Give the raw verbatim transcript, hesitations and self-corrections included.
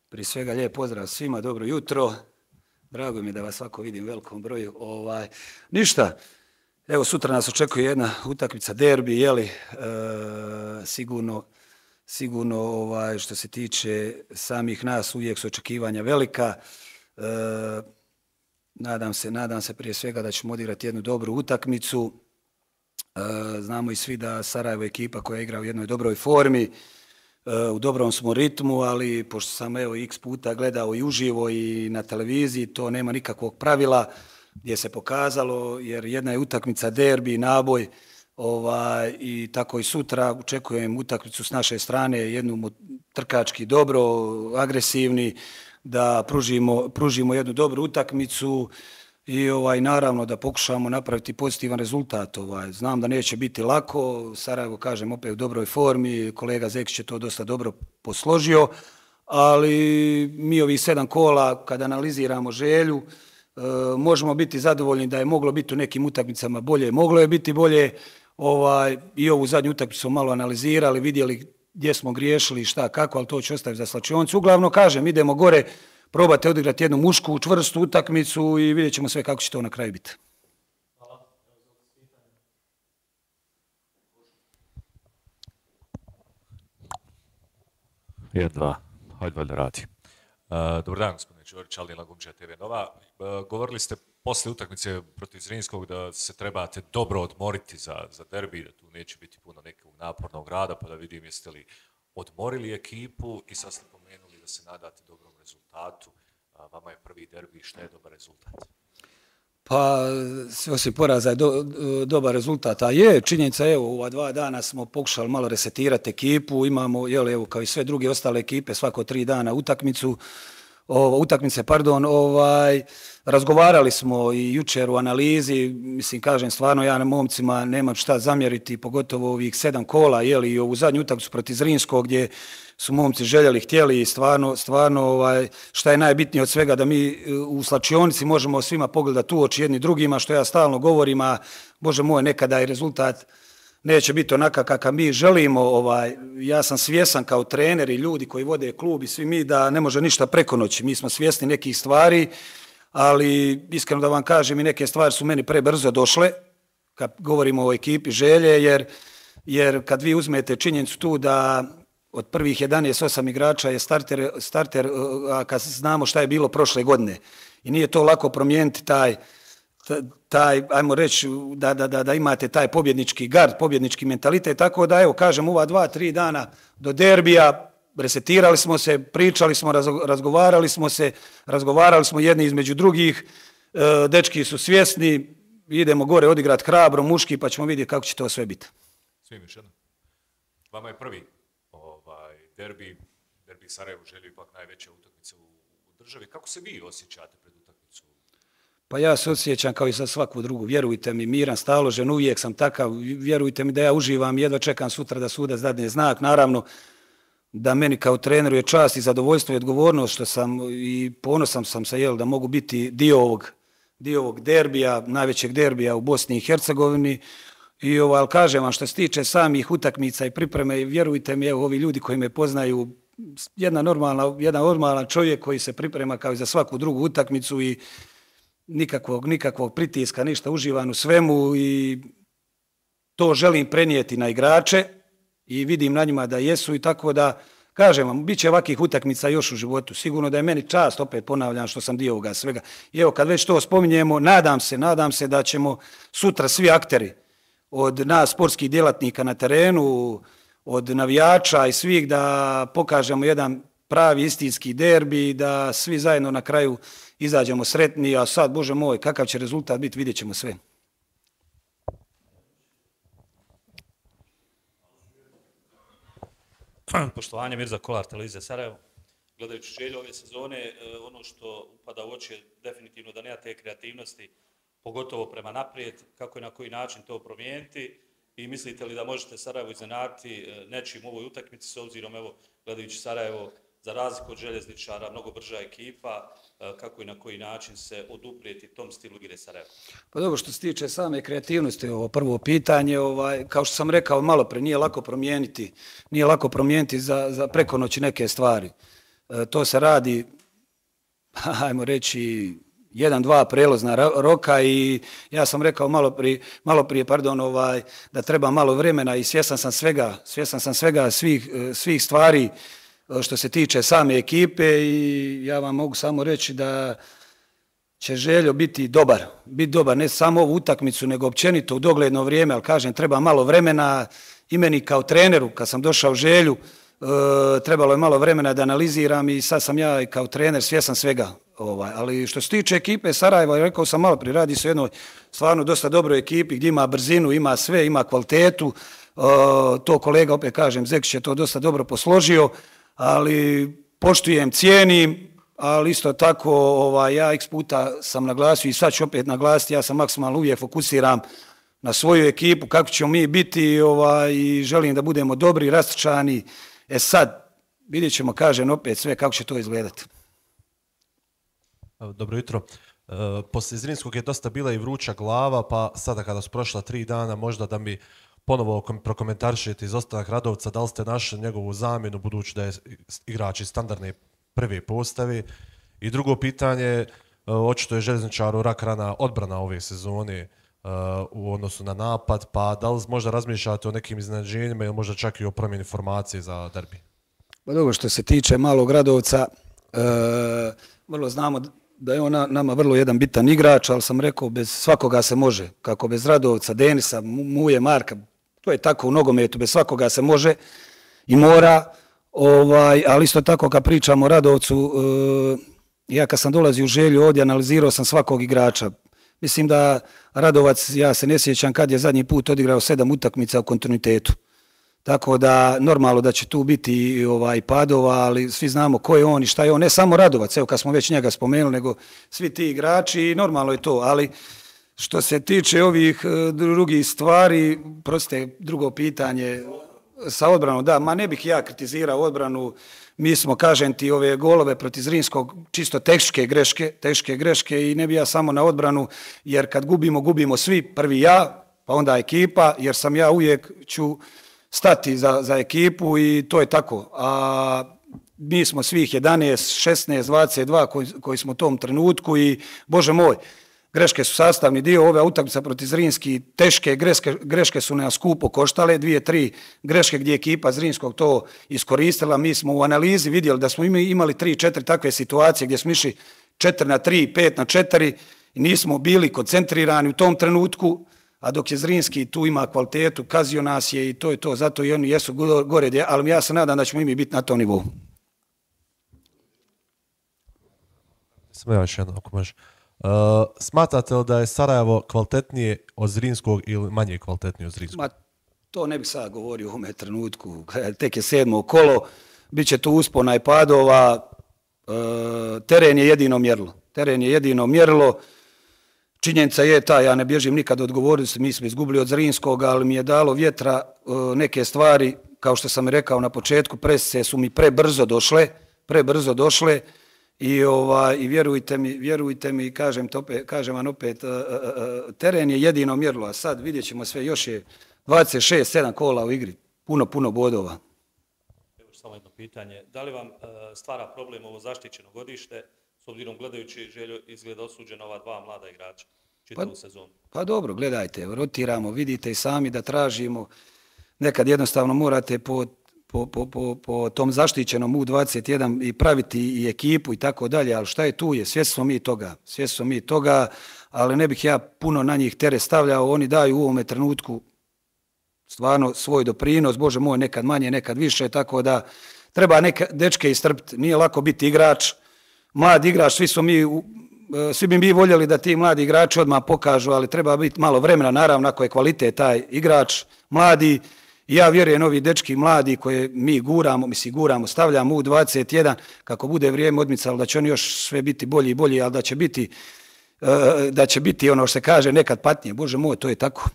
Prije svega lijep pozdrav svima, dobro jutro. Drago mi je da vas svako vidim u velikom broju. Ovaj, ništa, evo sutra nas očekuje jedna utakmica derbi, jeli, e, sigurno, sigurno ovaj, što se tiče samih nas uvijek su očekivanja velika. E, nadam se, nadam se prije svega da ćemo odigrati jednu dobru utakmicu. E, znamo i svi da Sarajevo je ekipa koja igra u jednoj dobroj formi. U dobrom smo ritmu, ali pošto sam evo x puta gledao i uživo i na televiziji, to nema nikakvog pravila gdje se pokazalo, jer jedna je utakmica derbi, naboj, ovaj, i tako i sutra očekujem utakmicu s naše strane, jednu trkački dobro, agresivni, da pružimo, pružimo jednu dobru utakmicu i ovaj, naravno da pokušamo napraviti pozitivan rezultat. Ovaj. Znam da neće biti lako, Sarajevo, kažem, opet u dobroj formi, kolega Zekić je to dosta dobro posložio, ali mi ovih sedam kola, kada analiziramo želju, e, možemo biti zadovoljni da je moglo biti u nekim utakmicama bolje, moglo je biti bolje, ovaj, i ovu zadnju utakmicu smo malo analizirali, vidjeli gdje smo griješili, šta, kako, ali to će ostaviti za slačionicu. Uglavnom, kažem, idemo gore, probate odigrati jednu mušku, čvrstu utakmicu i vidjet ćemo sve kako će to na kraju biti. Hvala. jedan, dva. Hajde valjda radi. Uh, dobar dan, gospodine Čorić, Alin Lagumčija, te ve Nova. Uh, govorili ste poslije utakmice protiv Zrinskog da se trebate dobro odmoriti za, za derbi, da tu neće biti puno nekog napornog rada, pa da vidim jeste li odmorili ekipu i sad ste pomenuli da se nadate dobrom rezultatu. Vama je prvi derbi, šta je dobar rezultat? Pa, osim poraza je do, dobar rezultat, a je, činjenica, evo, ova dva dana smo pokušali malo resetirati ekipu, imamo, jel, evo, kao i sve druge ostale ekipe, svako tri dana utakmicu, o, utakmice, pardon, ovaj, razgovarali smo i jučer u analizi, mislim, kažem, stvarno ja na momcima nemam šta zamjeriti, pogotovo ovih sedam kola, jel, i ovu zadnju utakmicu protiv Zrinskog, gdje su momci željeli, htjeli i stvarno, stvarno ovaj, šta je najbitnije od svega da mi u slačionici možemo svima pogledati u oči jedni drugima, što ja stalno govorim, a Bože moj, nekada i rezultat neće biti onaka kakav mi želimo. Ovaj, ja sam svjesan kao trener i ljudi koji vode klub i svi mi da ne može ništa preko noći. Mi smo svjesni nekih stvari, ali iskreno da vam kažem i neke stvari su meni prebrzo došle, kad govorimo o ekipi želje, jer, jer kad vi uzmete činjenicu tu da od prvih jedanaest osam igrača je starter, starter, a kad znamo šta je bilo prošle godine. I nije to lako promijeniti taj, taj ajmo reći, da, da, da, da imate taj pobjednički gard, pobjednički mentalitet. Tako da, evo, kažem, ova dva, tri dana do derbija, resetirali smo se, pričali smo, razgovarali smo se, razgovarali smo jedni između drugih, dečki su svjesni, idemo gore odigrati hrabro, muški, pa ćemo vidjeti kako će to sve biti. Svim još jednom. Vama je prvi derbi, derbi Sarajevo želju ipak najveća utakmica u, u državi. Kako se vi osjećate pred utakmicu? Pa ja se osjećam kao i za svaku drugu. Vjerujte mi, miran, staložen, uvijek sam takav. Vjerujte mi da ja uživam, jedva čekam sutra da sudac dadne znak. Naravno da meni kao treneru je čast i zadovoljstvo i odgovornost što sam i ponosan sam se, jel, da mogu biti dio ovog, dio ovog derbija, najvećeg derbija u Bosni i Hercegovini. I ovo, ali kažem vam, što se tiče samih utakmica i pripreme, vjerujte mi, evo, ovi ljudi koji me poznaju, jedna normalna, jedan normalan čovjek koji se priprema kao i za svaku drugu utakmicu i nikakvog, nikakvog pritiska, ništa, uživan u svemu i to želim prenijeti na igrače i vidim na njima da jesu i tako da, kažem vam, bit će ovakvih utakmica još u životu. Sigurno da je meni čast, opet ponavljam što sam dio ovoga svega. I evo, kad već to spominjemo, nadam se, nadam se da ćemo sutra svi akteri, od nas sportskih djelatnika na terenu, od navijača i svih da pokažemo jedan pravi istinski derbi, da svi zajedno na kraju izađemo sretni, a sad, Bože moj, kakav će rezultat biti, vidjet ćemo sve. Poštovanje, Mirza Kolar, televizija Sarajevo. Gledajući želju ove sezone, ono što upada u oči je definitivno da nema te kreativnosti, pogotovo prema naprijed, kako i na koji način to promijeniti i mislite li da možete Sarajevo iznenaditi nečim u ovoj utakmici s obzirom, evo, gledajući Sarajevo, za razliku od Željezničara, mnogo brža ekipa, kako i na koji način se oduprijeti tom stilu igre Sarajeva? Pa dobro, što se tiče same kreativnosti, ovo prvo pitanje, ovaj, kao što sam rekao malo pre, nije lako promijeniti, nije lako promijeniti za, za preko noći neke stvari. to se radi, ajmo reći, jedan, dva prelazna roka i ja sam rekao malo prije, malo prije pardon, ovaj, da treba malo vremena i svjestan sam svega, svjestan sam svega svih, svih stvari što se tiče same ekipe i ja vam mogu samo reći da će Željo biti dobar, biti dobar ne samo ovu utakmicu nego općenito u dogledno vrijeme, ali kažem treba malo vremena i meni kao treneru kad sam došao Želju e, trebalo je malo vremena da analiziram i sad sam ja i kao trener svjestan svega. Ovaj, ali što se tiče ekipe Sarajeva, rekao sam malo prije, radi se o jednoj stvarno dosta dobroj ekipi gdje ima brzinu, ima sve, ima kvalitetu, e, to kolega opet kažem, Zekić je to dosta dobro posložio, ali poštujem, cijenim, ali isto tako ovaj, ja x puta sam naglasio i sad ću opet naglasiti, ja sam maksimalno uvijek fokusiram na svoju ekipu, kako ćemo mi biti ovaj, i želim da budemo dobri, rastrčani. E sad, vidjet ćemo, kažem opet sve kako će to izgledati. Dobro jutro. E, poslije Zrinskog je dosta bila i vruća glava, pa sada kada su prošla tri dana, možda da mi ponovo prokomentarišete izostanak Radovca, da li ste našli njegovu zamjenu, budući da je igrač iz standardne prve postavi. I drugo pitanje, očito je Željezničaru rak rana odbrana ove sezone uh, u odnosu na napad, pa da li možda razmišljate o nekim iznenađenjima ili možda čak i o promjeni formacije za derbi? Pa dobro, što se tiče malog Radovca, uh, vrlo znamo da je on nama vrlo jedan bitan igrač, ali sam rekao bez svakoga se može, kako bez Radovca, Denisa, Muje, Marka, to je tako u nogometu, bez svakoga se može i mora. Ovaj, ali isto tako kad pričamo o Radovcu, e, ja kad sam dolazio u Želju ovdje analizirao sam svakog igrača. Mislim da Radovac, ja se ne sjećam kad je zadnji put odigrao sedam utakmica u kontinuitetu. Tako da normalno da će tu biti ovaj, padova, ali svi znamo ko je on i šta je on. Ne samo Radovac, evo kad smo već njega spomenuli, nego svi ti igrači i normalno je to. Ali što se tiče ovih drugih stvari, proste drugo pitanje sa odbranom, da, ma ne bih ja kritizirao odbranu, mi smo, kažem ti, ove golove protiv Zrinskog čisto teške greške, teške greške i ne bih ja samo na odbranu, jer kad gubimo, gubimo svi, prvi ja, pa onda ekipa, jer sam ja uvijek ću stati za, za ekipu i to je tako. A mi smo svih jedanaest, šesnaest, dvadeset dva koji, koji smo u tom trenutku i, Bože moj, greške su sastavni dio ove utakmice protiv Zrinski, teške greške, greške su nas skupo koštale, dvije, tri greške gdje je ekipa Zrinskog to iskoristila. Mi smo u analizi vidjeli da smo imali tri, četiri takve situacije gdje smo išli četiri na tri, pet na četiri i nismo bili koncentrirani u tom trenutku, a dok je Zrinski tu ima kvalitetu, kazio nas je i to je to, zato i oni jesu gore, ali ja se nadam da ćemo i mi biti na tom nivou. Samo ja još jedno, ako može. Uh, smatrate li da je Sarajevo kvalitetnije od Zrinskog ili manje kvalitetnije od Zrinskog? Ma, to ne bih sad govorio u ovome trenutku. Tek je sedmo kolo, bit će tu uspona i padova. Uh, teren je jedino mjerilo. Teren je jedino mjerilo. Činjenica je ta, ja ne bježim nikad od odgovornosti, mi smo izgubili od Zrinskog, ali mi je dalo vjetra uh, neke stvari, kao što sam rekao na početku, presice su mi prebrzo došle, prebrzo došle. I, ovaj, i vjerujte mi, vjerujte mi, kažem, to opet, kažem vam opet, uh, uh, teren je jedino mjerilo, a sad vidjet ćemo sve, još je dvadeset šest sedam kola u igri, puno, puno bodova. Evo samo jedno pitanje, da li vam uh, stvara problem ovo zaštićeno godište, s obzirom gledajući Željo izgleda osuđena ova dva mlada igrača čitavu pa, sezonu? Pa dobro, gledajte, rotiramo, vidite i sami da tražimo, nekad jednostavno morate po Po, po, po, po tom zaštićenom U dvadeset jedan i praviti i ekipu i tako dalje, ali šta je tu je, svjesni smo mi toga, svjesni smo mi toga, ali ne bih ja puno na njih teret stavljao, oni daju u ovome trenutku stvarno svoj doprinos, Bože moj, nekad manje, nekad više, tako da treba neke dečke istrpiti, nije lako biti igrač, mlad igrač, svi smo mi, svi bi mi voljeli da ti mladi igrači odmah pokažu, ali treba biti malo vremena, naravno, ako je kvalitet taj igrač, mladi. Ja vjerujem ovi dečki mladi koje mi guramo, mi si guramo, stavljamo U dvadeset jedan, kako bude vrijeme odmicalo, da će oni još sve biti bolji i bolji, ali da će biti, da će biti ono što se kaže nekad patnije. Bože moj, to je tako.